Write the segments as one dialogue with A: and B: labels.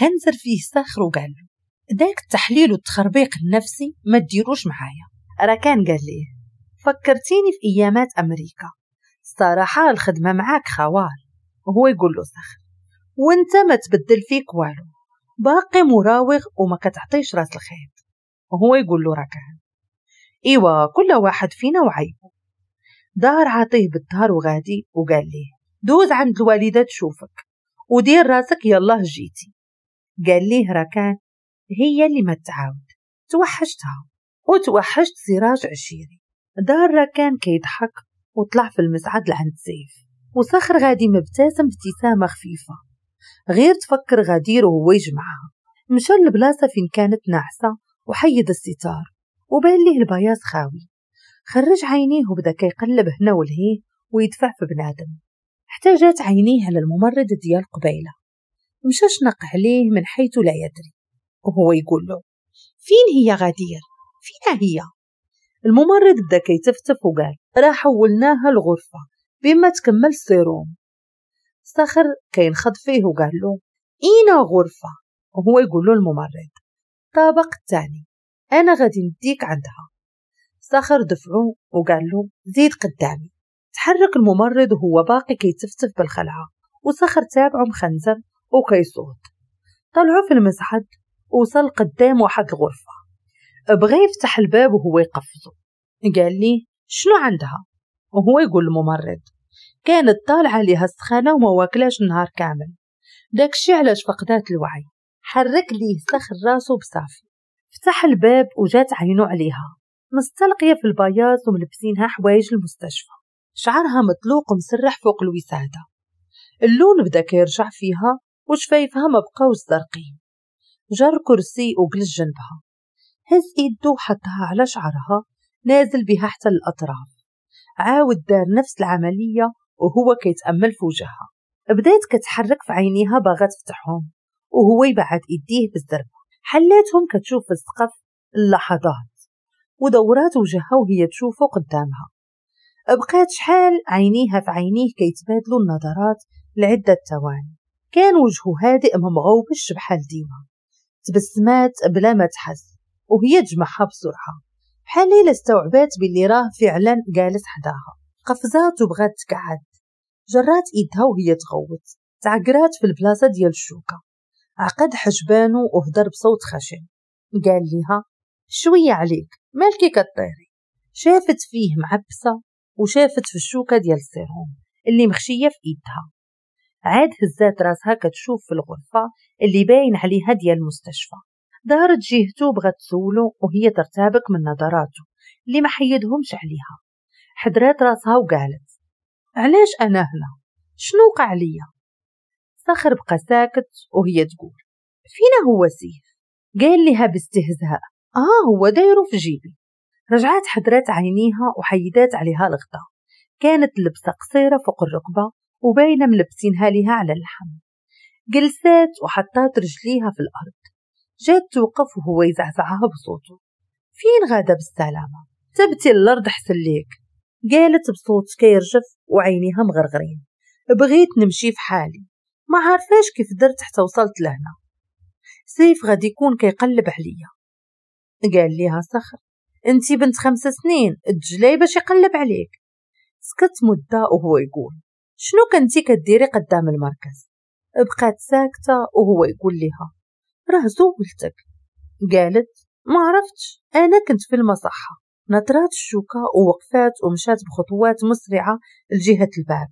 A: خنزر فيه صخر وقال له داك التحليل والتخربيق النفسي ما تديروش معايا. ركان قال ليه فكرتيني في ايامات امريكا، الصراحة الخدمة معاك خوار. وهو يقول له صخر وانت ما تبدل فيك والو، باقي مراوغ وما كتعطيش راس الخيط. وهو يقول له ركان ايوا كل واحد فينا وعيبه. دار عطية بالظهر وغادي وقال ليه دوز عند الوالدة تشوفك ودير راسك يلاه جيتي. قال ليه ركان هي اللي ما تعاود، توحشتها وتوحشت سراج عشيري. دار ركان كيضحك وطلع في المصعد لعند سيف، وصخر غادي مبتسم ابتسامة خفيفة غير تفكر غدير وهو يجمعها. مشى للبلاصة فين كانت ناعسة وحيد الستار وبان ليه البياص خاوي. خرج عينيه وبدا كيقلب هنا ولهيه ويدفع في بنادم حتى جات عينيه على الممرض ديال قبيلة. مشى شنق عليه من حيث لا يدري وهو يقول له فين هي غدير؟ فين هي؟ الممرض بدا كيتفتف وقال راه حولناها الغرفة بما تكمل السيروم. صخر كينخض فيه وقال له اينا غرفة؟ وهو يقول له الممرض طابق الثاني، انا غادي نديك عندها. صخر دفعه وقال له زيد قدامي. تحرك الممرض وهو باقي كيتفتف بالخلعة، وصخر تابعه مخنزر وكيصوت. طلعوا في المصعد وصل قدام واحد الغرفة، بغى يفتح الباب وهو يقفزه. قال لي شنو عندها؟ وهو يقول الممرض كانت طالعة ليها السخانة وما واكلاش النهار كامل، داكشي علاش فقدات الوعي. حرك ليه صخر راسه بصافي. فتح الباب وجات عينه عليها مستلقية في البياض وملبسينها حوايج المستشفى، شعرها مطلوق ومسرح فوق الوسادة، اللون بدا كيرجع فيها وشفايفها ما بقاوش زرقين. جر كرسي وجلس جنبها، هز ايده وحطها على شعرها نازل بها حتى الأطراف. عاود دار نفس العملية وهو كيتأمل في وجهها. بدات كتحرك في عينيها باغا تفتحهم وهو يبعد ايديه بالزربة. حلاتهم كتشوف في السقف اللحظات ودورات وجهها وهي تشوفه قدامها. بقات شحال عينيها في عينيه كيتبادلوا النظرات لعدة ثواني. كان وجهه هادئ ما مغوبش بحال ديما. تبسمات بلا ما تحس وهي تجمعها بسرعة بحال إلا استوعبات باللي راه فعلا جالس حداها. قفزات وبغات تقعد، جرات ايدها وهي تغوت، تعقرات في البلاصة ديال الشوكة. عقد حجبانو وهدر بصوت خشن قال لها شوية عليك مالكي كطيري. شافت فيه معبسة وشافت في الشوكة ديال السيروم اللي مخشية في ايدها. عاد هزات راسها كتشوف في الغرفة اللي باين عليها ديال المستشفى. دارت جهته بغات تسولو وهي ترتبك من نظراته اللي ما حيدهمش عليها. حدرات راسها وقالت علاش انا هنا؟ شنو وقع ليا؟ صخر بقى ساكت وهي تقول فينا هو سيف؟ قال لها باستهزاء هو دايرو في جيبي. رجعات حدرات عينيها وحيدات عليها الغطاء. كانت لبسة قصيرة فوق الركبة وباينة ملبسينها ليها على اللحم. جلسات وحطات رجليها في الأرض. جات توقف وهو يزعزعها بصوته فين غادا بالسلامة؟ تبتي الأرض حسن ليك. قالت بصوت كيرجف وعينيها مغرغرين بغيت نمشي في حالي، ما عارفاش كيف درت حتى وصلت لهنا، سيف غادي يكون كيقلب عليا. قال ليها صخر انتي بنت 5 سنين الدجلاي باش يقلب عليك. سكت مدة وهو يقول شنو كنتي كديري قدام المركز؟ بقات ساكتة وهو يقول لها راه زولتك. قالت ما عرفتش انا كنت في المصحة. نطرات الشوكة ووقفات ومشات بخطوات مسرعة لجهة الباب.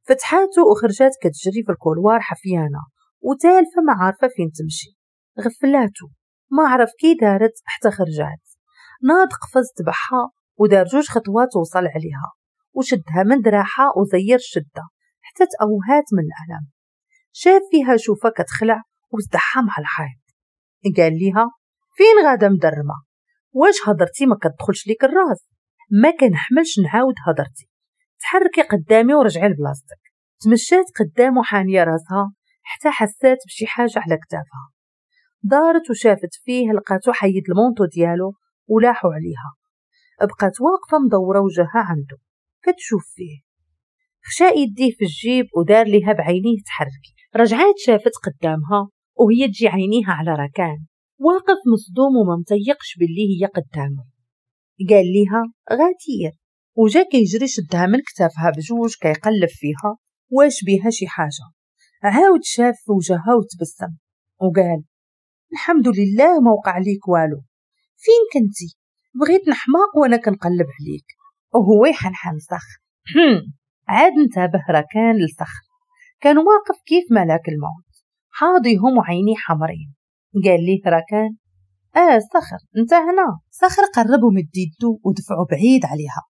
A: فتحاته وخرجات كتجري في ال couloir حفيانة وتالفة ما عارفة فين تمشي. غفلاته ما عرف كي دارت حتى خرجات. ناض قفز تبعها ودار 2 خطوات وصل عليها وشدها من دراعها وزير الشدة حتى تأوهات من الألم. شاف فيها شوفة كتخلع وزدحها مع الحيط. قال ليها فين غادا مدرمة؟ واش هضرتي ما كتدخلش ليك الراس؟ ما كنحملش نعاود هضرتي، تحركي قدامي ورجعي لبلاصتك. تمشات قدامه حانية راسها حتى حسات بشي حاجة على كتافها. دارت وشافت فيه لقاتو حيد ال manteau ديالو ولاحو عليها. بقات واقفة مدورة وجهها عنده كتشوف فيه. خشا يديه في الجيب ودار ليها بعينيه تحركي. رجعات شافت قدامها وهي تجي عينيها على ركان واقف مصدوم وما متيقش باللي هي قدامه. قال ليها غدير، وجا كيجري شدها من كتافها بجوج كيقلب فيها واش بيها شي حاجة. عاود شاف في وجهها وتبسم وقال الحمد لله ما وقع ليك والو، فين كنتي؟ بغيت نحماق وانا كنقلب عليك. وهو يحنحن صخر. عاد انتبه ركان لصخر، كان واقف كيف ملاك الموت حاضيهم وعينيه حمرين. قال ليه ركان صخر انت هنا. صخر قرب ومد يدو ودفعه بعيد عليها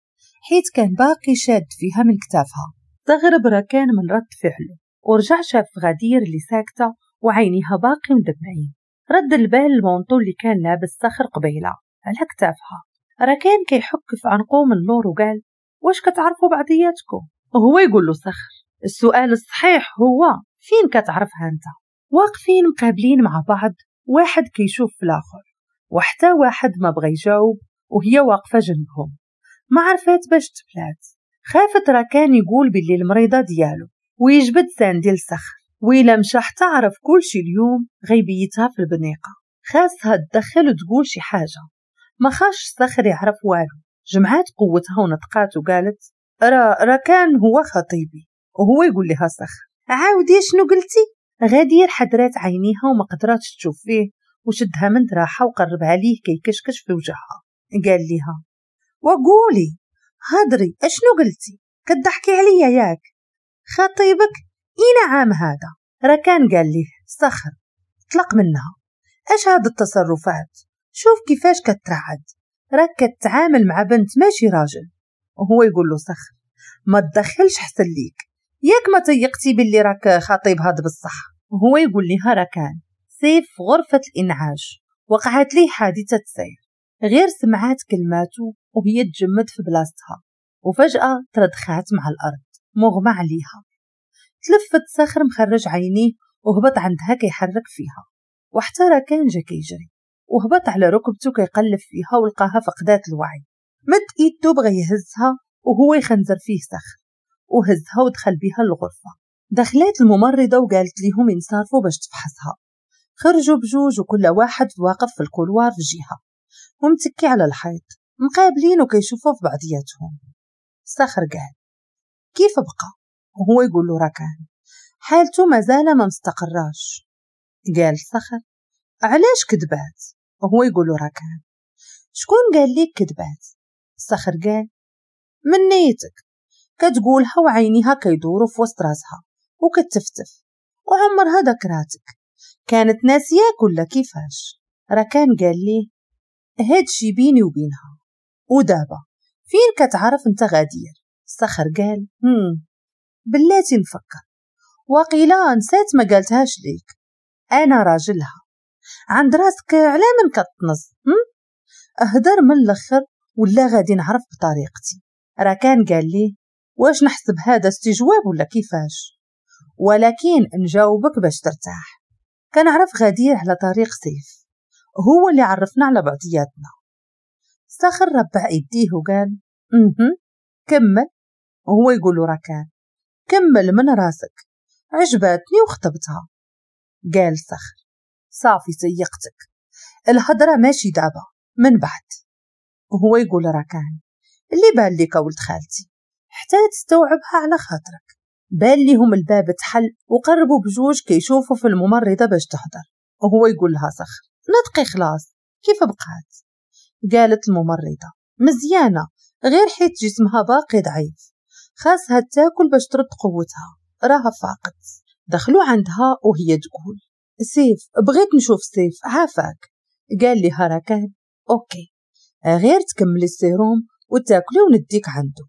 A: حيت كان باقي شاد فيها من كتافها. استغرب ركان من رد فعله ورجع شاف غدير اللي ساكته وعينيها باقي مدمعين. رد البال ال manteau اللي كان لابس صخر قبيله على كتافها. ركان كيحك في عنقو من اللور وقال واش كتعرفوا بعضياتكم؟ وهو يقول له صخر السؤال الصحيح هو فين كتعرفها انت؟ واقفين مقابلين مع بعض، واحد كيشوف في الاخر وحتى واحد ما بغى يجاوب، وهي واقفه جنبهم ما عرفات باش تبلات. خافت ركان يقول باللي المريضه ديالو ويجبد ساندي لصخر، وإلا مشى حتى عرف كلشي اليوم غيبيتها في البنيقه. خاصها تدخل وتقول شي حاجه، ما خاش صخر يعرف والو. جمعات قوتها ونطقات وقالت ركان هو خطيبي. وهو يقول لها صخر عاودي شنو قلتي؟ غدير حدرات عينيها وما قدراتش تشوف فيه، وشدها من دراحه وقربها ليه كيكشكش في وجهها. قال لها وقولي هضري اشنو قلتي؟ كتضحكي عليا ياك؟ خطيبك اين عام هذا؟ ركان قال ليه صخر طلق منها، اش هاد التصرفات؟ شوف كيفاش كترعد، راك كتعامل مع بنت ماشي راجل. وهو يقول له صخر ما تدخلش حسن ليك، ياك ما تيقتي باللي راك خطيب هاد بصح؟ وهو يقول لها ركان سيف في غرفة الإنعاش وقعت ليه حادثة سير. غير سمعات كلماته وهي تجمد في بلاصتها، وفجأة تردخات مع الأرض مغمى عليها. تلفت صخر مخرج عينيه وهبط عندها كيحرك فيها، وحتى ركان جا كيجري وهبط على ركبته كيقلب فيها ولقاها فقدات الوعي. مد ايدو بغى يهزها وهو يخنزر فيه صخر، وهزها ودخل بها الغرفة. دخلت الممرضة وقالت لهم ينصرفوا باش تفحصها. خرجوا بجوج وكل واحد واقف في ال couloir في جهة ومتكي على الحيط مقابلين وكيشوفوا في بعضياتهم. صخر قال كيف بقى؟ وهو يقول له ركان حالته مازال ما مستقراش. قال صخر علاش كذبات؟ وهو يقول له ركان شكون قال لك كذبات؟ صخر قال من نيتك كتقولها وعينيها كيدوروا في وسط راسها وكتفتف وعمرها ذكراتك، كانت ناسياك ولا كيفاش؟ ركان قال ليه هادشي بيني وبينها، ودابا فين كتعرف انت غدير؟ صخر قال بلاتي نفكر، وقيلا نسات ما قالتهاش ليك، انا راجلها، عند راسك على من كتنص؟ اهدر من الاخر ولا غادي نعرف بطريقتي. ركان قال ليه واش نحسب هذا استجواب ولا كيفاش؟ ولكن نجاوبك باش ترتاح. كنعرف غدير على طريق سيف، هو اللي عرفنا على بعضياتنا. صخر ربع يديه وقال كمل. وهو يقول له ركان كمل من راسك، عجباتني وخطبتها. قال صخر صافي تيقتك، الهضره ماشي دابا من بعد. وهو يقول ركان اللي بان لك ولد خالتي حتى تستوعبها على خاطرك. بان ليهم الباب تحل وقربوا بجوج كيشوفوا في الممرضه باش تحضر. وهو يقول لها صخر نطقي خلاص كيف بقات؟ قالت الممرضه مزيانه غير حيت جسمها باقي ضعيف، خاصها تاكل باش ترد قوتها، راها فاقت. دخلوا عندها وهي تقول سيف بغيت نشوف سيف عافاك. قال لها ركان OK غير تكملي السيروم وتاكلي ونديك عنده.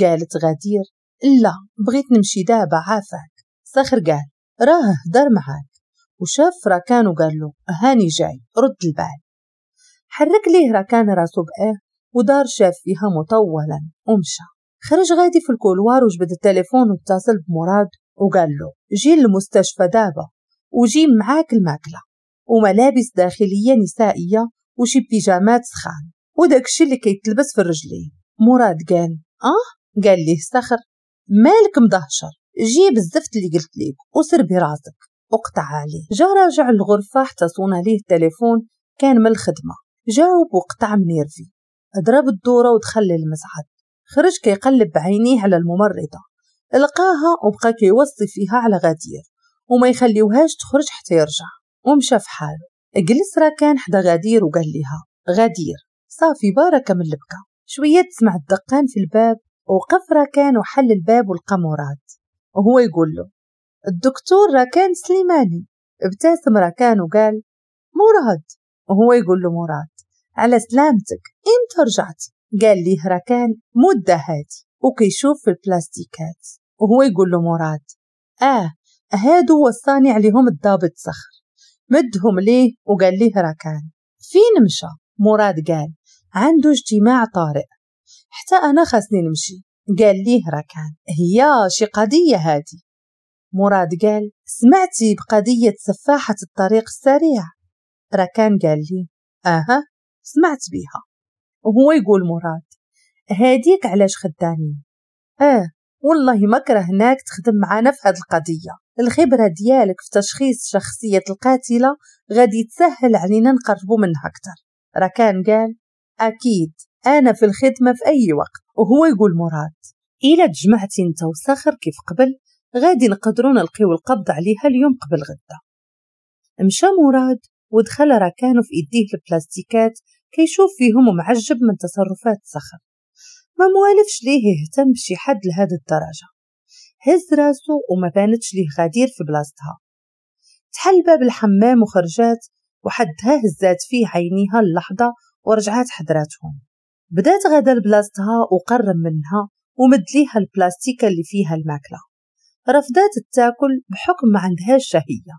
A: قالت غدير لا بغيت نمشي دابا عافاك. صخر قال راه هدر معاك، وشاف ركان وقال له هاني جاي رد البال. حرك ليه ركان راسو بآه ودار شاف فيها مطولا ومشى. خرج غادي في ال couloir وجبد التليفون واتصل بمراد وقال له جي للمستشفى دابا وجي معاك الماكلة وملابس داخلية نسائية وشي بيجامات سخان وداكشي اللي كيتلبس في الرجلين. مراد قال قال ليه صخر مالك مدهشر، جيب الزفت اللي قلت ليك وسربي راسك. وقطع عليه. جا راجع الغرفة حتى صونا ليه التليفون، كان من الخدمة. جاوب وقطع منيرفي، ضرب الدورة ودخل للمصعد. خرج كيقلب بعينيه على الممرضة، لقاها وبقى كيوصي فيها على غدير وما يخليوهاش تخرج حتى يرجع، ومشى في حاله. جلس راكان حدا غدير وقال لها غدير صافي باركة من البكا. شوية تسمع الدقان في الباب، وقف راكان وحل الباب ولقى مراد، وهو يقول له الدكتور راكان سليماني. ابتسم راكان وقال مراد، وهو يقول له مراد على سلامتك، امتى رجعتي؟ قال ليه راكان مدة هادي، وكيشوف في البلاستيكات، وهو يقول له مراد هادو وصاني عليهم الضابط صخر. مدهم ليه وقال ليه راكان فين مشى؟ مراد قال عنده اجتماع طارئ، حتى أنا خاصني نمشي. قال ليه راكان هي شي قضية هادي؟ مراد قال سمعتي بقضية سفاحة الطريق السريع؟ راكان قال لي سمعت بيها. وهو يقول مراد هاديك علاش خدامين؟ والله ما كرهناك تخدم معانا في هاد القضية، الخبرة ديالك في تشخيص شخصية القاتلة غادي تسهل علينا نقربوا منها أكثر. راكان قال أكيد أنا في الخدمة في أي وقت. وهو يقول مراد إلا تجمعتي انت وصخر كيف قبل غادي نقدروا نلقيو القبض عليها اليوم قبل غدا. مشى مراد ودخل راكان في إيديه البلاستيكات كيشوف فيهم ومعجب من تصرفات صخر، ما موالفش ليه يهتم بشي حد لهذه الدرجة. هز راسه وما بانتش ليه غدير في بلاصتها. تحل باب الحمام وخرجات، وحدها هزات فيه عينيها اللحظة ورجعات حضراتهم. بدات غدا لبلاصتها وقرب منها ومد ليها البلاستيكة اللي فيها الماكلة. رفضات تاكل بحكم ما عندهاش شهية،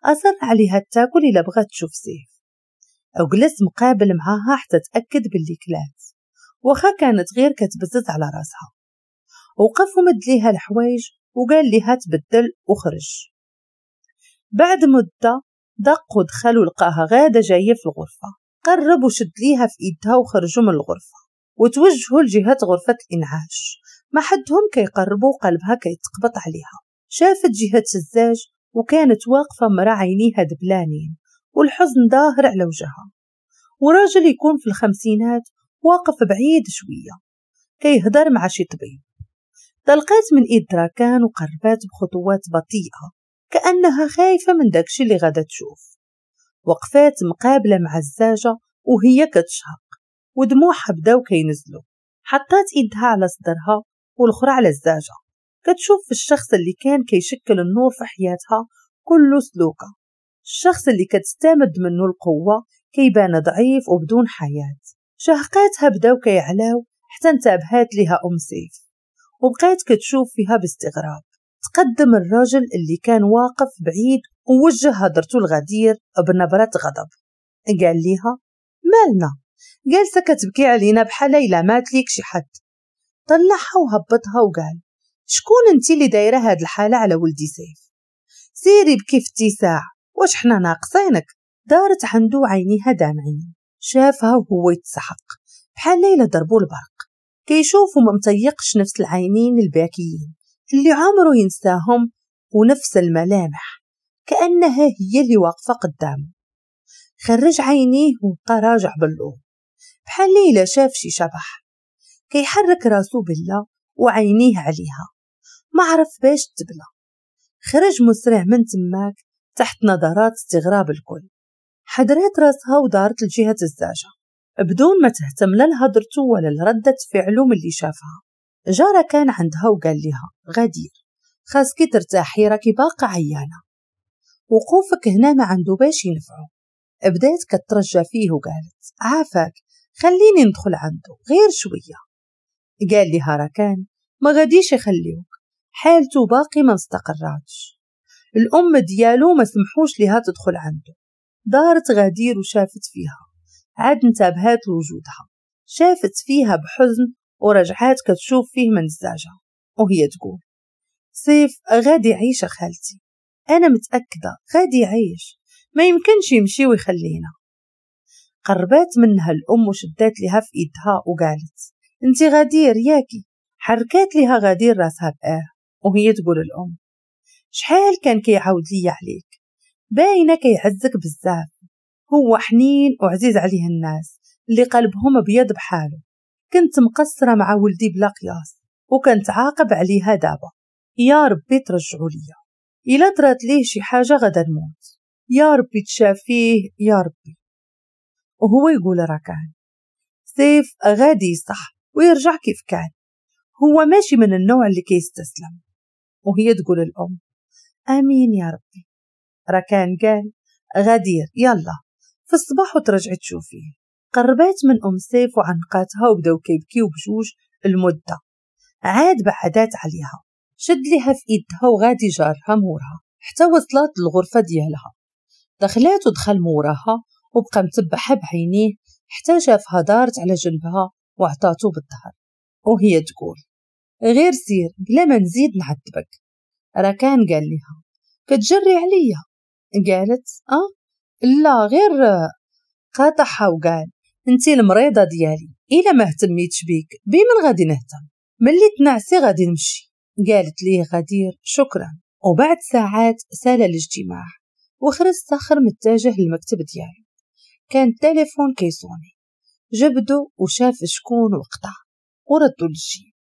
A: أصر عليها تاكل إلا بغات تشوف سيف. وجلس مقابل معاها حتى تأكد باللي كلات، واخا كانت غير كتبزز على راسها. وقف ومد ليها الحوايج وقال ليها تبدل وخرج. بعد مدة دق ودخل ولقاها غادة جاية في الغرفة. قرب وشد ليها في ايدها وخرجوا من الغرفة وتوجهوا لجهة غرفة الإنعاش. ما حدهم كيقربوا قلبها كيتقبط عليها. شافت جهة الزاج وكانت واقفة مرا عينيها دبلانين والحزن ظاهر على وجهها، وراجل يكون في الخمسينات واقف بعيد شوية كيهدر مع شي طبيب. طلقات من ايد راكان وقربات بخطوات بطيئة كأنها خايفة من داكشي اللي غادا تشوف. وقفات مقابلة مع الزاجة وهي كتشهق ودموعها بداو كينزلوا. حطات ايدها على صدرها والاخرى على الزاجة، كتشوف في الشخص اللي كان كيشكل النور في حياتها كله سلوكة، الشخص اللي كتستمد منه القوة كيبان ضعيف وبدون حياة. شهقاتها بداو كيعلاو حتى انتبهات لها أم سيف وبقات كتشوف فيها باستغراب. تقدم الرجل اللي كان واقف بعيد ووجه هضرته الغدير بنبرة غضب. قال ليها مالنا جالسة كتبكي علينا بحال إلا مات ليك شي حد. طلعها وهبطها وقال شكون انتي اللي دايرة هاد الحالة على ولدي سيف؟ سيري بكي في اتساع، واش حنا ناقصينك؟ دارت عنده عينيها دامعين. شافها وهو يتسحق بحال ليلة ضربو البرق، كيشوف وما مطيقش نفس العينين الباكيين اللي عمره ينساهم ونفس الملامح كأنها هي اللي واقفة قدامه. خرج عينيه وبقى راجع باللون بحال ليلة شاف شي شبح. كيحرك راسو بالله وعينيه عليها، ما عرف باش تبلى. خرج مسرع من تماك تحت نظرات استغراب الكل. حدرات راسها ودارت لجهة الزاجة بدون ما تهتم لا لهضرته ولا لردة فعله من اللي شافها. جارة كان عندها وقال لها غدير خاصكي ترتاحي راكي باقا عيانة، وقوفك هنا ما عنده باش ينفعه. بدات كترجى فيه وقالت عافاك خليني ندخل عنده غير شوية. قال لها راكان ما غاديش يخليوك، حالته باقي ما استقراتش، الأم ديالو ما سمحوش لها تدخل عنده. دارت غدير وشافت فيها، عاد انتبهات لوجودها، شافت فيها بحزن ورجعات كتشوف فيه من الزاجة وهي تقول سيف غادي يعيش خالتي، أنا متأكدة غادي يعيش، ما يمكنش يمشي ويخلينا. قربات منها الأم وشدات لها في إيدها وقالت انتي غدير ياكي؟ حركات لها غدير راسها بآه وهي تقول الأم شحال كان كيعاود ليا عليك، باينة كيعزك بزاف، هو حنين وعزيز عليه الناس اللي قلبهم ابيض بحاله. كنت مقصرة مع ولدي بلا قياس وكنت عاقب عليها دابا، يا ربي ترجعوا ليا، الا طرات ليه شي حاجة غدا نموت، يا ربي تشافيه يا ربي. وهو يقول ركان سيف غادي يصح ويرجع كيف كان، هو ماشي من النوع اللي كيستسلم. وهي تقول الأم آمين يا ربي. ركان قال غدير يلا في الصباح وترجعي تشوفيه. قربات من أم سيف وعنقاتها وبداو كيبكيو بجوج المدة، عاد بعدات عليها، شد لها في ايدها وغادي جارها مورها حتى وصلت للغرفة ديالها. دخلات ودخل موراها وبقى متبعها بعينيه حتى شافها دارت على جنبها وعطاتو بالظهر، وهي تقول غير سير بلا ما نزيد نعذبك. ركان قال لها كتجري عليا؟ قالت لا غير. قاطعها وقال انتي المريضة ديالي، الا ما اهتميتش بيك بمن غادي نهتم؟ ملي تنعسي غادي نمشي. قالت ليه غدير شكرا. وبعد ساعات سال الاجتماع وخرج صخر متجه للمكتب ديالو. كان التليفون كيصوني، جبدو وشاف شكون وقطع وردو للجيب.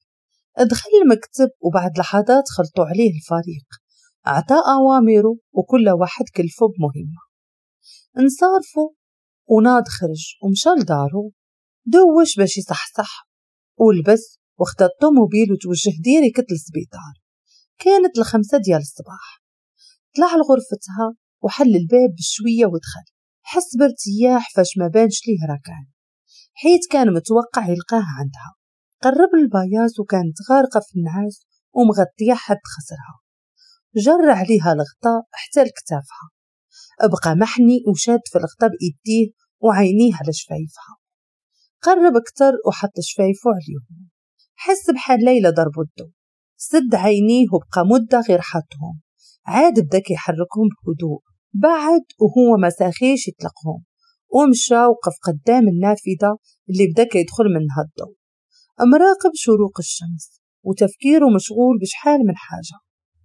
A: دخل المكتب وبعد لحظات خلطوا عليه الفريق، عطى أوامره وكل واحد كلفه بمهمة. انصرفوا وناض خرج ومشى لدارو، دوش باش يصحصح ولبس وخدا الطوموبيل وتوجه direct للسبيطار. كانت 5 ديال الصباح. طلع لغرفتها وحل الباب بشوية ودخل. حس بارتياح فاش ما بانش ليه ركان، حيت كان متوقع يلقاه عندها. قرب البياص وكانت غارقة في النعاس ومغطية حد خسرها. جر عليها الغطاء حتى لكتافها، بقى محني وشاد في الغطاء بإيديه وعينيه على شفايفها. قرب اكتر وحط شفايفه عليهم، حس بحال ليلى ضربو الضو. سد عينيه وبقى مدة غير حطهم، عاد بدا كيحركهم بهدوء. بعد وهو ما ساخيش يطلقهم، ومشى وقف قدام النافذة اللي بدا كيدخل منها الضوء، مراقب شروق الشمس وتفكيره مشغول بشحال من حاجة.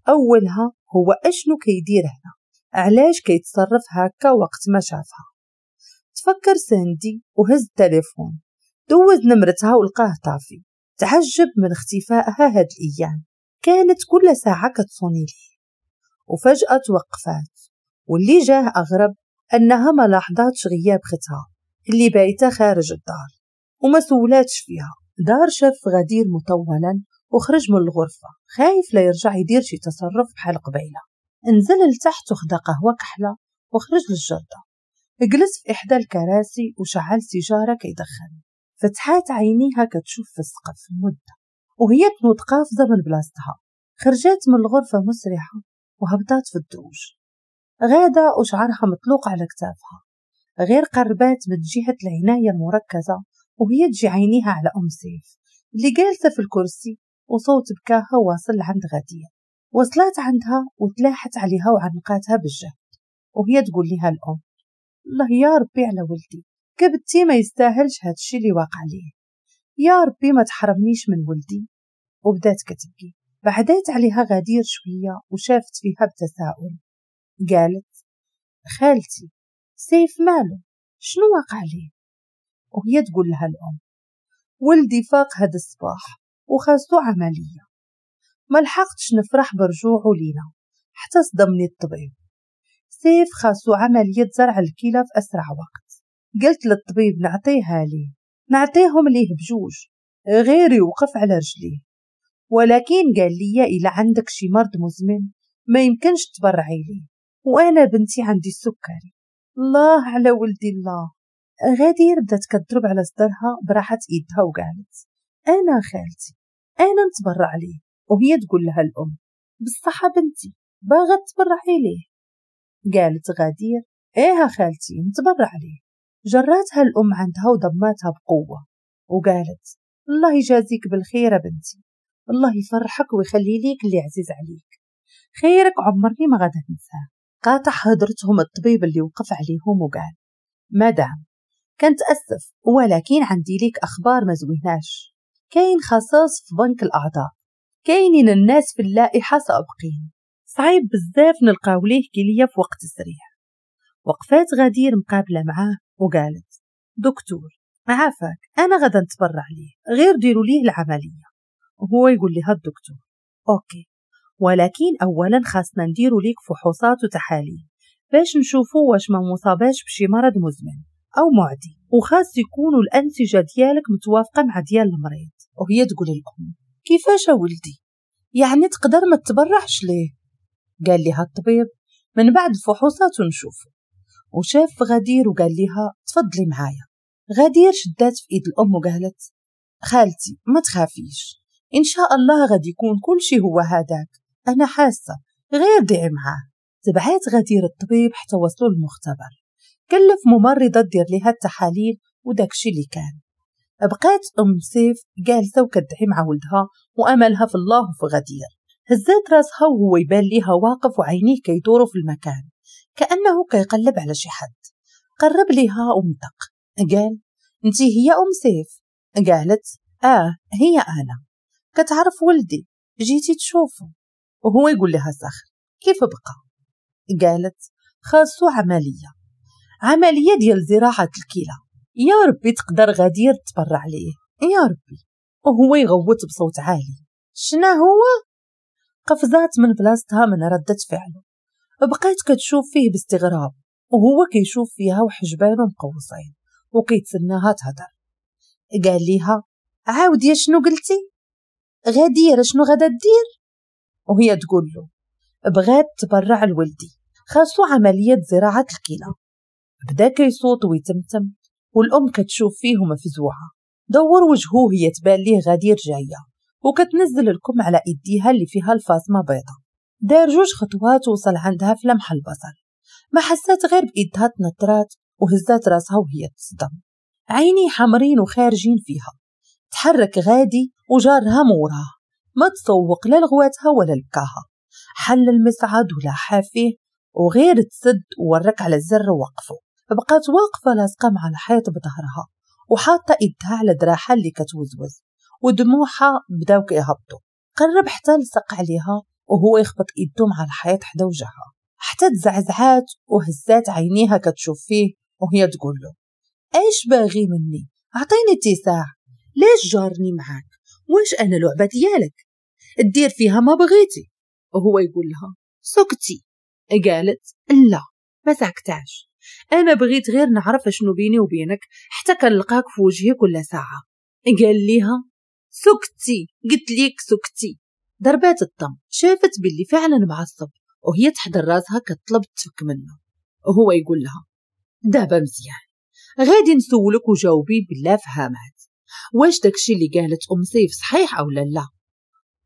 A: أولها هو أشنو كيدير هنا، علاش كيتصرف هكا وقت ما شافها. تفكر ساندي وهز التليفون، دوز نمرتها ولقاه طافي. تعجب من اختفائها هاد الأيام، كانت كل ساعة كتصوني ليه، وفجأة توقفات. واللي جاه أغرب أنها ما لاحظاتش غياب ختها اللي بايتة خارج الدار وما سولاتش فيها. دار شاف غدير مطولا وخرج من الغرفة خايف لا يرجع يدير شي تصرف بحال قبيلة. نزل لتحت وخدا قهوة كحلة وخرج للجردة، جلس في إحدى الكراسي وشعل سيجارة كيدخن. فتحات عينيها كتشوف في السقف مدة وهي تنوض قافزة من بلاصتها. خرجت من الغرفة مسرعة وهبطات في الدروج، غادة وشعرها مطلوق على كتافها. غير قربات من جهة العناية المركزة وهي تجي عينيها على أم سيف اللي جالسة في الكرسي وصوت بكاها واصل لعند غدير. وصلت عندها وتلاحت عليها وعنقاتها بالجهد، وهي تقول لها الأم الله يا ربي على ولدي، كبتي ما يستاهلش هادشي اللي واقع ليه، يا ربي ما تحرمنيش من ولدي. وبدات كتبكي. بعدات عليها غدير شوية وشافت فيها بتساؤل، قالت خالتي سيف ماله، شنو واقع ليه؟ وهي تقول لها الأم ولدي فاق هاد الصباح وخاصو عملية، ما لحقتش نفرح برجوعه لينا حتى صدمني الطبيب. سيف خاصو عملية زرع الكلى في أسرع وقت. قلت للطبيب نعطيها ليه، نعطيهم ليه بجوج غير يوقف على رجليه، ولكن قال لي إلا عندك شي مرض مزمن ما يمكنش تبرعي ليه، وأنا بنتي عندي السكري. الله على ولدي الله. غدير بدات كتضرب على صدرها براحة ايدها وقالت انا خالتي انا نتبرع ليه. وهي تقول لها الام بالصحة بنتي باغا تبرعي ليه. قالت غدير ايه خالتي نتبرع ليه. جراتها الام عندها وضماتها بقوة وقالت الله يجازيك بالخير بنتي، الله يفرحك ويخلي ليك اللي عزيز عليك، خيرك عمرني ما غادا ننساه. قاطع هضرتهم الطبيب اللي وقف عليهم وقال مدام كنتأسف ولكن عندي ليك أخبار ما زويناش، كاين خصاص في بنك الأعضاء، كاينين الناس في اللائحة سابقين. صعيب بزاف نلقاو ليه كلية في وقت سريع. وقفات غدير مقابلة معاه وقالت دكتور عافاك أنا غدا نتبرع ليه، غير ديروا ليه العملية. وهو يقول لها الدكتور OK، ولكن أولا خاصنا نديروا ليك فحوصات وتحاليل باش نشوفوا واش ما مصاباش بشي مرض مزمن أو معدي، وخاص يكونوا الأنسجة ديالك متوافقة مع ديال المريض. وهي تقول الأم كيفاش ولدي؟ يعني تقدر ما تبرعش ليه؟ قال لها الطبيب من بعد الفحوصات ونشوفوا. وشاف غدير وقال لها تفضلي معايا. غدير شدات في ايد الام وقالت خالتي ما تخافيش، ان شاء الله غادي يكون كل شيء هو هذاك، انا حاسه، غير دعي معاه. تبعات غدير الطبيب حتى وصلوا للمختبر، كلف ممرضه دير لها التحاليل وداكشي اللي كان. بقات ام سيف جالسه وكدعي مع ولدها واملها في الله وفي غدير. هزات راسها وهو يبان ليها واقف وعينيه كيدوروا في المكان كانه كيقلب على شي حد. قرب ليها ونطق قال انتي هي ام سيف؟ قالت هي انا، كتعرف ولدي، جيتي تشوفه. وهو يقول لها صخر كيف بقى؟ قالت خاصو عملية ديال زراعة الكلى، يا ربي تقدر غدير تبرع ليه يا ربي. وهو يغوت بصوت عالي شنا هو؟ قفزات من بلاصتها من ردة فعله، بقات كتشوف فيه باستغراب وهو كيشوف فيها وحجبانه مقوصين وكيتسناها تهدر. قال ليها عاودي شنو قلتي؟ غدير شنو غادا دير؟ وهي تقول له بغات تبرع لولدي، خاصو عملية زراعة الكلى. بدا كيصوت ويتمتم والأم كتشوف فيه مفزوعة. دور وجهه هي تبان ليه غدير جاية وكتنزل الكم على ايديها اللي فيها الفاصمة بيضة. دار جوج خطوات وصل عندها في لمح البصر، ما حسات غير بإيدها تنطرات وهزات راسها وهي تصدم، عيني حمرين وخارجين فيها. تحرك غادي وجارها موراه، ما تسوق لا لغواتها ولا لبكاها. حل المصعد ولا حافيه وغير تسد وورك على الزر ووقفه. بقات واقفة لاصقة مع الحيط بظهرها وحاطة ايدها على دراعها اللي كتوزوز ودموعها بداو كيهبطوا. قرب حتى لصق عليها وهو يخبط ايده مع الحيط حدا وجهها حتى تزعزعات وهزات عينيها كتشوف فيه وهي تقول له ايش باغي مني؟ اعطيني اتساع، ليش جارني معاك؟ واش انا لعبة ديالك؟ دير فيها ما بغيتي. وهو يقول لها سكتي. قالت لا ما سكتاش، انا بغيت غير نعرف شنو بيني وبينك حتى كنلقاك في وجهي كل ساعة. قال ليها سكتي، قلت ليك سكتي. ضربات الطم، شافت باللي فعلا معصب وهي تحضر راسها كتطلب تفك منه. وهو يقول لها دابا مزيان غادي نسولك وجاوبي بالله فهامات، واش داكشي اللي قالت ام سيف صحيح او لا؟ لا.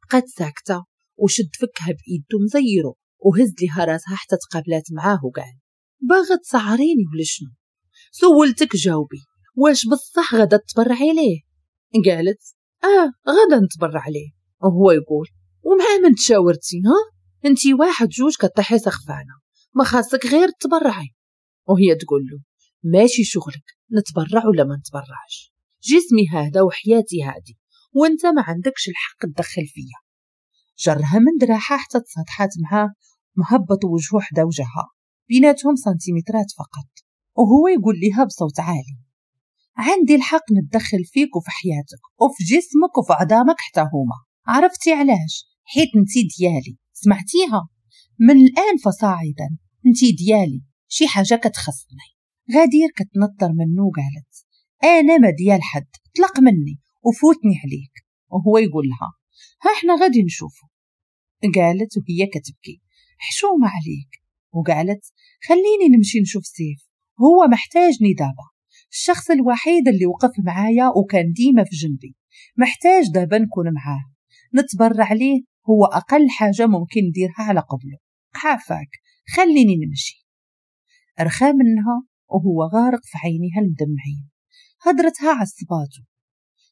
A: بقات ساكته وشد فكها بايده مزيرو وهز ليها راسها حتى تقابلات معاه وقال باغا تسعريني ولا شنو؟ سولتك جاوبي، واش بصح غادا تبرعي ليه؟ قالت غادا نتبرع ليه. وهو يقول ومع من تشاورتي؟ ها انتي واحد جوج كطيحي سخفانه، ما خاصك غير تبرعي. وهي تقول له ماشي شغلك نتبرع ولا ما نتبرعش، جسمي هذا وحياتي هذه وانت ما عندكش الحق تدخل فيا. جرها من دراعها حتى تساطحات معاه، مهبط وجهه حدا وجهها، بيناتهم سنتيمترات فقط. وهو يقول لها بصوت عالي عندي الحق نتدخل فيك وفي حياتك وفي جسمك وفي عظامك حتى هما، عرفتي علاش؟ حيت انتي ديالي، سمعتيها؟ من الآن فصاعدا انتي ديالي، شي حاجة كتخصني. غدير كتنطر منه وقالت أنا ما ديال حد، طلق مني وفوتني عليك. وهو يقول لها ها احنا غادي نشوفه. قالت وهي كتبكي حشومة عليك. وقالت خليني نمشي نشوف سيف، هو محتاجني دابا، الشخص الوحيد اللي وقف معايا وكان ديما في جنبي، محتاج دابا نكون معاه، نتبرع ليه، هو أقل حاجة ممكن نديرها على قبله، عافاك خليني نمشي. رخى منها وهو غارق في عينيها المدمعين، هدرتها عصباته،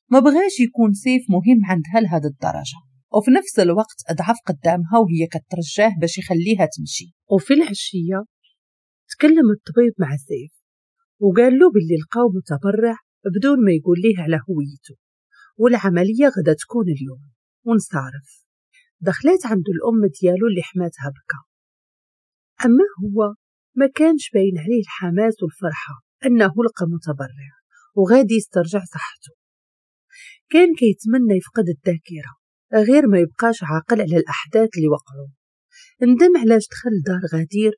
A: ما بغاش يكون سيف مهم عندها لهذا الدرجة، وفي نفس الوقت أضعف قدامها وهي كترجاه باش يخليها تمشي. وفي العشية تكلم الطبيب مع سيف وقال له باللي لقاو متبرع بدون ما يقول ليه على هويته، والعملية غدا تكون اليوم ونصارف. دخلت عنده الأم ديالو اللي حماتها بكى. أما هو ما كانش باين عليه الحماس والفرحة أنه لقى متبرع وغادي يسترجع صحته. كان كيتمنى يفقد الذاكرة غير ما يبقاش عاقل على الأحداث اللي وقعوا. ندم علاش دخل دار غدير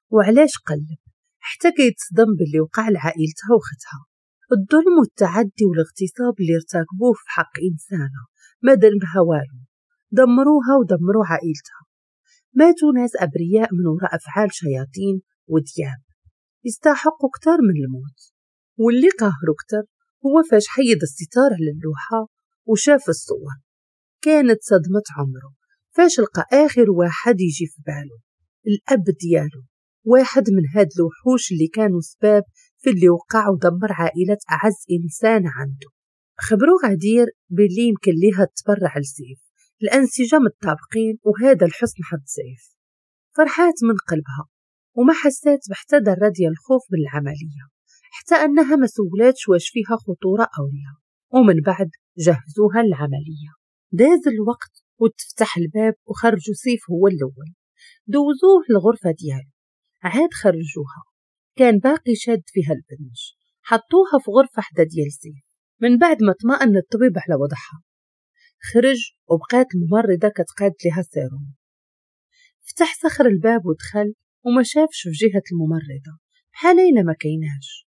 A: وعلاش قلب، حتى كيتصدم باللي وقع لعائلتها وختها. الظلم والتعدي والاغتصاب اللي ارتكبوه في حق إنسانة ما ذنبها والو، دمروها ودمروا عائلتها. ماتوا ناس أبرياء من وراء أفعال شياطين ودياب يستحقوا كتر من الموت. واللي قاهروا كتر هو فاش حيد الستار على اللوحة وشاف الصور. كانت صدمة عمره فاش لقى آخر واحد يجي في باله، الأب ديالو، واحد من هاد الوحوش اللي كانوا سباب في اللي وقع ودمر عائلة أعز إنسان عنده. خبروا غدير باللي يمكن ليها تتبرع لسيف، الأنسجة متطابقين وهذا الحسن حظ سيف. فرحات من قلبها وما حسات بحتى ذرة ديال الخوف من العملية، حتى أنها ما سولاتش واش فيها خطورة أو لا. ومن بعد جهزوها للعملية. داز الوقت وتفتح الباب وخرجوا سيف هو الأول، دوزوه للغرفة ديالو. عاد خرجوها، كان باقي شاد فيها البنج، حطوها في غرفة حدا ديال سيف. من بعد ما اطمأن الطبيب على وضعها خرج، وبقات الممرضة كتقاد لها السيروم. فتح صخر الباب ودخل وما شافش في جهة الممرضة بحال إلا ما كايناش.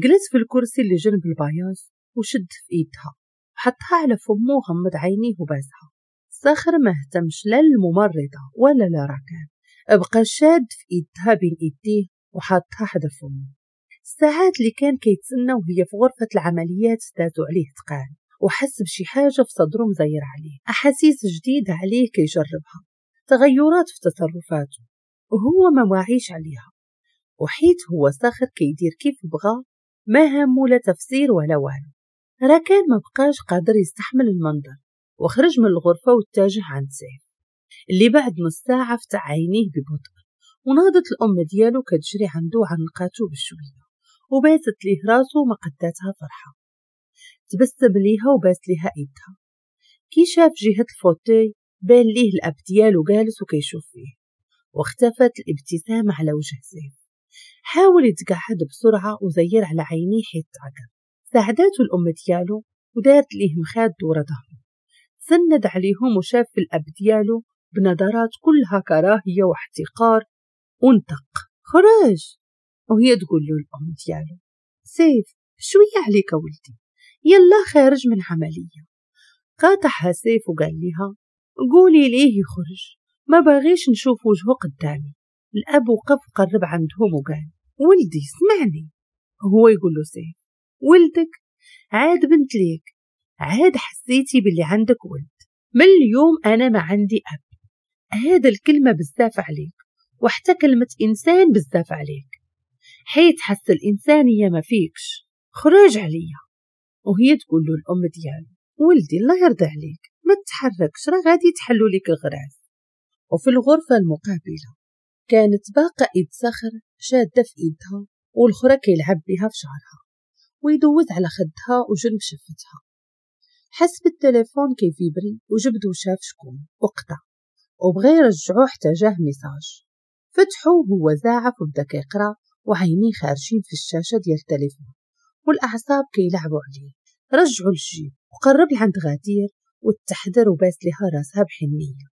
A: جلس في الكرسي اللي جنب البياض وشد في ايدها وحطها على فمه وغمض عينيه وباسها. صخر ما اهتمش لا للممرضة ولا لراكان، بقى شاد في ايدها بين ايديه وحطها حدا فمه. الساعات اللي كان كيتسنى وهي في غرفة العمليات دازوا عليه تقال، وحس بشي حاجة في صدره مزير عليه، أحاسيس جديدة عليه كيجربها، تغيرات في تصرفاته وهو ما واعيش عليها. وحيت هو صخر كيدير كيف بغى، ما همه لا تفسير ولا والو. راكان ما بقاش قادر يستحمل المنظر وخرج من الغرفة واتجه عند سيف اللي بعد نص ساعة فتح عينيه ببطء، وناضت الأم ديالو كتجري عنده وعنقاتو بشوية وباست ليه راسو وما قداتها فرحة. تبسم ليها وباس ليها ايدها. كي شاف جهة ال fauteuil بان ليه الأب ديالو جالس وكيشوف فيه، واختفت الابتسامة على وجه سيف. حاول يتقعد بسرعة وزير على عينيه حيت تعقل. ساعدته الأم ديالو ودارت ليه مخاد ورا ظهره، سند عليهم وشاف في الأب ديالو بنظرات كلها كراهية واحتقار ونطق خرج. وهي تقول له الأم ديالو سيف شوية عليك ولدي، يلا خارج من عملية. قاطعها سيف وقال لها قولي ليه يخرج، ما باغيش نشوف وجهه قدامي. الأب وقف قرب عندهم وقال ولدي سمعني. هو يقول له سيف ولدك عاد بنت ليك، عاد حسيتي باللي عندك ولد، من اليوم أنا ما عندي أب. هذا الكلمة بزاف عليك، وحتى كلمة إنسان بزاف عليك، حيت حس الإنسانية ما فيكش، خرج عليا. وهي تقول له الأم ديالو ولدي الله يرضى عليك ما تحركش، راه غادي تحلو لك الغراز. وفي الغرفة المقابلة كانت باقة إيد صخر شادة في إيدها والأخرى كيلعب بها في شعرها ويدوز على خدها وجنب شفتها. حس بالتليفون كيفيبري وجبد وشاف شكون وقطع، وبغى يرجعو حتى جاه message. فتحو وهو زاعف وبدا كيقرا وعينيه خارجين في الشاشة ديال التليفون والأعصاب كيلعبوا عليه. رجعو للجيب وقرب لعند غدير وتحدر وباس لها راسها بحنية.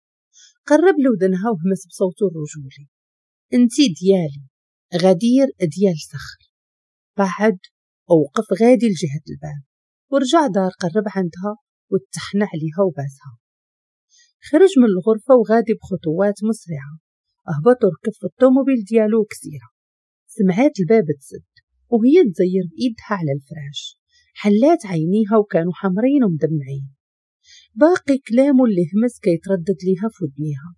A: قرب لودنها وهمس بصوته الرجولي انتي ديالي، غدير ديال صخر. بعد ووقف غادي لجهة الباب ورجع دار قرب عندها وتحنى عليها وباسها. خرج من الغرفة وغادي بخطوات مسرعة، هبط وركب في الطوموبيل ديالو كثيرة. سمعات الباب تسد وهي تزير بإيدها على الفراش. حلات عينيها وكانوا حمرين ومدمعين، باقي كلامه اللي همس كيتردد ليها في ودنيها.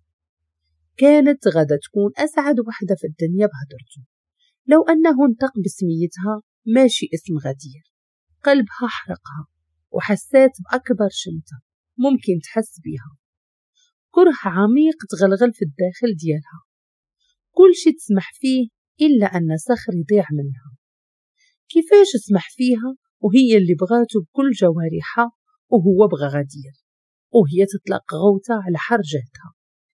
A: كانت غدا تكون أسعد وحدة في الدنيا بهدرته لو أنه انطق بسميتها ماشي اسم غدير. قلبها حرقها وحسات بأكبر شمتة ممكن تحس بيها. كره عميق تغلغل في الداخل ديالها، كل شي تسمح فيه إلا أن صخر يضيع منها. كيفاش تسمح فيها وهي اللي بغاته بكل جوارحها وهو بغى غدير؟ وهي تطلق غوته على حر جهدها.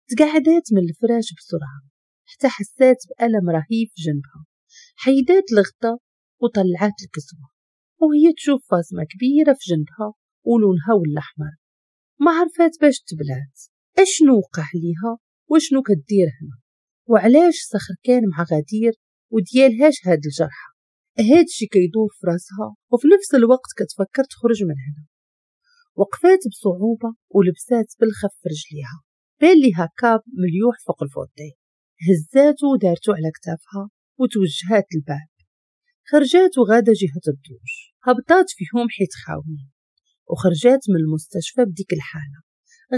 A: تقعدات من الفراش بسرعة حتى حسات بألم رهيب في جنبها. حيدات الغطا وطلعات الكسوة وهي تشوف فاصمة كبيرة في جنبها ولونها ولا أحمر. ما عرفات باش تبلات، اشنو وقع ليها وشنو كدير هنا، وعلاش صخر كان مع غدير وديالهاش هاد الجرحى. هادشي كيدور في راسها وفي نفس الوقت كتفكر تخرج من هنا. وقفات بصعوبة ولبسات بالخف رجليها. بان ليها cape مليوح فوق ال fauteuil، هزاتو ودارتو على كتافها وتوجهات الباب. خرجات وغاده جهة الدوش، هبطات فيهم حيت خاويين، وخرجات من المستشفى بديك الحالة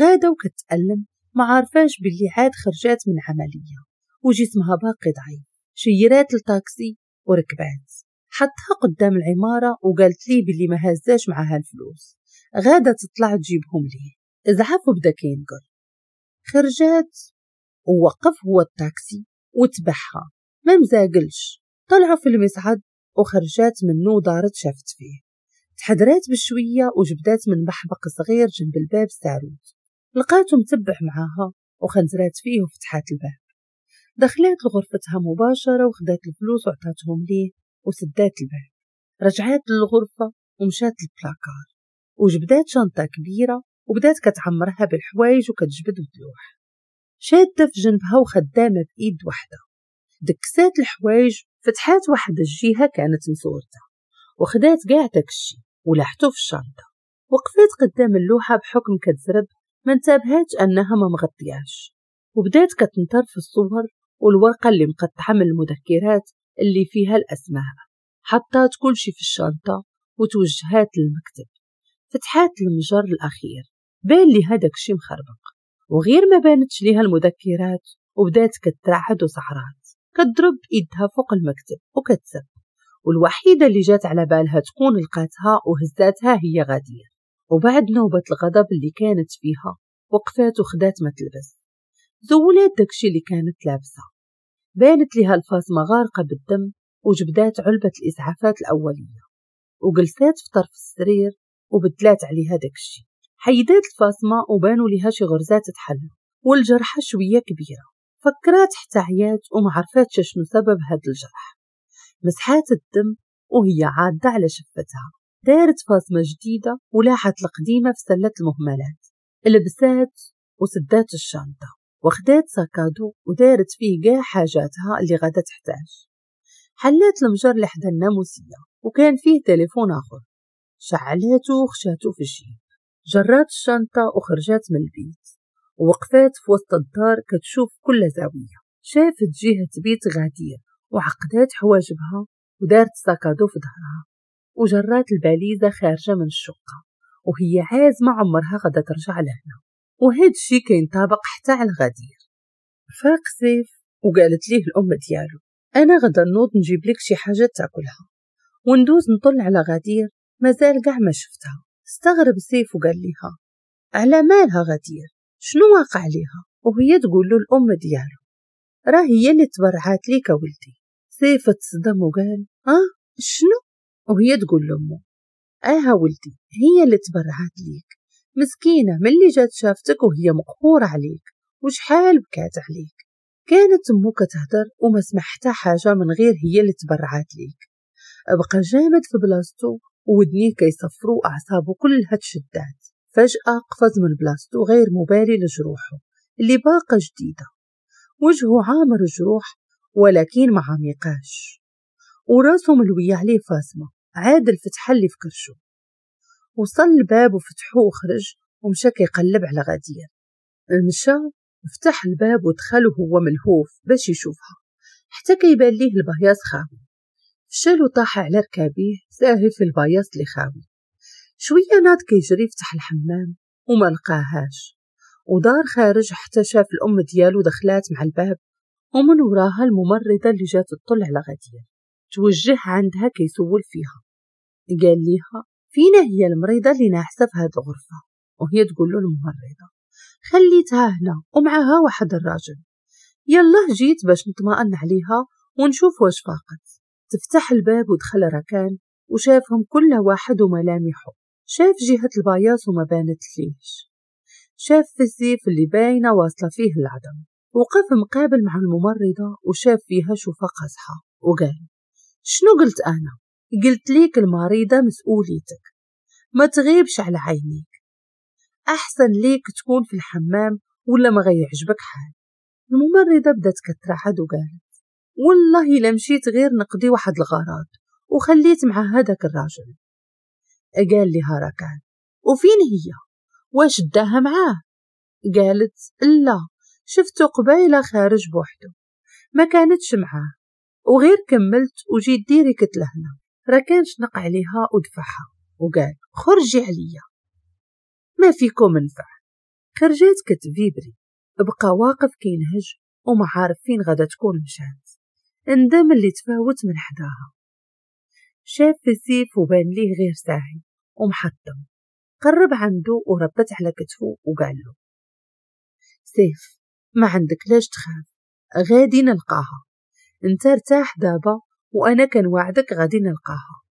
A: غاده وكتألم، ما عارفاش باللي عاد خرجات من عملية وجسمها باقي ضعيف. شيرات الطاكسي وركبات، حطها قدام العمارة وقالت لي باللي ما هزاش معاها الفلوس، غاده تطلع تجيبهم ليه. زعف وبدا كينقر. خرجات ووقف هو الطاكسي وتبعها، ما مزاقلش. طلعوا في المصعد وخرجات منه ودارت شافت فيه. تحدرات بشوية وجبدات من محبق صغير جنب الباب ساروت، لقاته متبع معاها وخنزرات فيه وفتحات الباب. دخلات لغرفتها مباشرة وخدات الفلوس وعطاتهم ليه وسدات الباب. رجعات للغرفة ومشات للبلاكار وجبدات شنطة كبيرة وبدات كتعمرها بالحوايج وكتجبد وتلوح، شادة في جنبها وخدامة بإيد واحدة. دكسات الحوايج، فتحات واحد الجهة كانت مسورتة وخدات كاع داكشي ولاحتو في الشنطة. وقفات قدام اللوحة بحكم كتزرب، ما انتبهاتش أنها ما مغطياش، وبدات كتنطر في الصور والورقة اللي مقطعة من المذكرات اللي فيها الأسماء. حطات كل شي في الشنطة وتوجهات للمكتب. فتحات المجر الأخير، بان ليها داكشي مخربق، وغير ما بانتش ليها المذكرات وبدات كترعد وسعرات، كتضرب ايدها فوق المكتب وكتسب. والوحيدة اللي جات على بالها تكون لقاتها وهزاتها هي غدير. وبعد نوبة الغضب اللي كانت فيها وقفات وخدات ما تلبس، زولات داكشي اللي كانت لابسة. بانت لها الفاصمة غارقة بالدم وجبدات علبة الإسعافات الأولية وجلسات في طرف السرير وبدلات عليها داكشي. حيدات الفاصمة وبانوا لها شي غرزات تحلو والجرحة شوية كبيرة. فكرات حتى عيات وما عرفاتش شنو سبب هاد الجرح. مسحات الدم وهي عادة على شفتها. دارت فاصمة جديدة ولاحت القديمة في سلة المهملات. لبسات وسدات الشنطة وخدات sac à dos ودارت فيه كاع حاجاتها اللي غادا تحتاج. حلات المجر لحدا الناموسية وكان فيه تليفون آخر، شعلاتو وخشاتو في الجيب. جرات الشنطة وخرجات من البيت ووقفات في وسط الدار كتشوف كل زاوية. شافت جهة بيت غدير وعقدات حواجبها ودارت sac à dos في ظهرها وجرات الباليزة خارجة من الشقة وهي عازمة عمرها غدا ترجع لهنا. وهاد الشي كينطابق حتى على غدير. فاق سيف وقالت ليه الأم ديالو أنا غدا نوض نجيب لك شي حاجة تاكلها وندوز نطل على غدير، مازال كاع ما شفتها. استغرب سيف وقال لها على مالها غدير، شنو واقع ليها؟ وهي تقول له الأم ديالو راه هي اللي تبرعات ليك ولدي. سيف تصدم وقال شنو؟ وهي تقول لأمه ولدي هي اللي تبرعات ليك، مسكينة ملي جات شافتك وهي مقهورة عليك وشحال بكات عليك. كانت أمو كتهدر وما سمع حتى حاجة من غير هي اللي تبرعات ليك. بقى جامد في بلاصتو وودنيه كيصفروا أعصابه كلها تشدات. فجأة قفز من بلاصتو غير مبالي لجروحه اللي باقة جديدة، وجهه عامر جروح ولكن ما عميقاش، وراسه ملوية عليه فاصمة. عاد الفتحة اللي في كرشو. وصل الباب وفتحوه وخرج ومشى كيقلب على غدير. مشى فتح الباب ودخل وهو ملهوف باش يشوفها، حتى كيبان ليه البياص خاوي. فشل وطاح على ركابيه ساهي في البياص اللي خاوي. شوية ناض كيجري فتح الحمام وما لقاهاش، ودار خارج حتى شاف الأم ديالو دخلات مع الباب ومن وراها الممرضة اللي جات تطل على غدير. توجه عندها كيسول فيها، قال ليها فينا هي المريضة اللي ناحسة في هاد الغرفة؟ وهي تقول له الممرضة خليتها هنا ومعها واحد الراجل، يلا جيت باش نطمئن عليها ونشوف واش فاقت. تفتح الباب ودخل ركان وشافهم كل واحد وملامحه. شاف جهة البياص وما بانت ليش. شاف في سيف اللي باينة واصلة فيه العظم. وقف مقابل مع الممرضة وشاف فيها شوفة قاصحة وقال شنو قلت أنا؟ قلت ليك المريضة مسؤوليتك، ما تغيبش على عينيك، أحسن ليك تكون في الحمام ولا ما غيعجبك حال. الممرضة بدات كترعد وقالت والله إلا مشيت غير نقضي واحد الغرض وخليت مع هذاك الراجل. قال لها ركان وفين هي؟ واش داها معاه؟ قالت لا، شفته قبيلة خارج بوحده، ما كانتش معاه، وغير كملت وجيت direct لهنا. ركان شنق عليها ودفعها وقال خرجي عليا، ما فيكم نفع. خرجات كتفيبري، بقى واقف كينهج وما عارف فين غادا تكون مشات. اندم اللي تفاوت من حداها. شاف في سيف وبان ليه غير ساهي ومحطم. قرب عنده وربت على كتفه وقال له سيف ما عندك لاش تخاف، غادي نلقاها، انت ارتاح دابا وانا كنوعدك غادي نلقاها.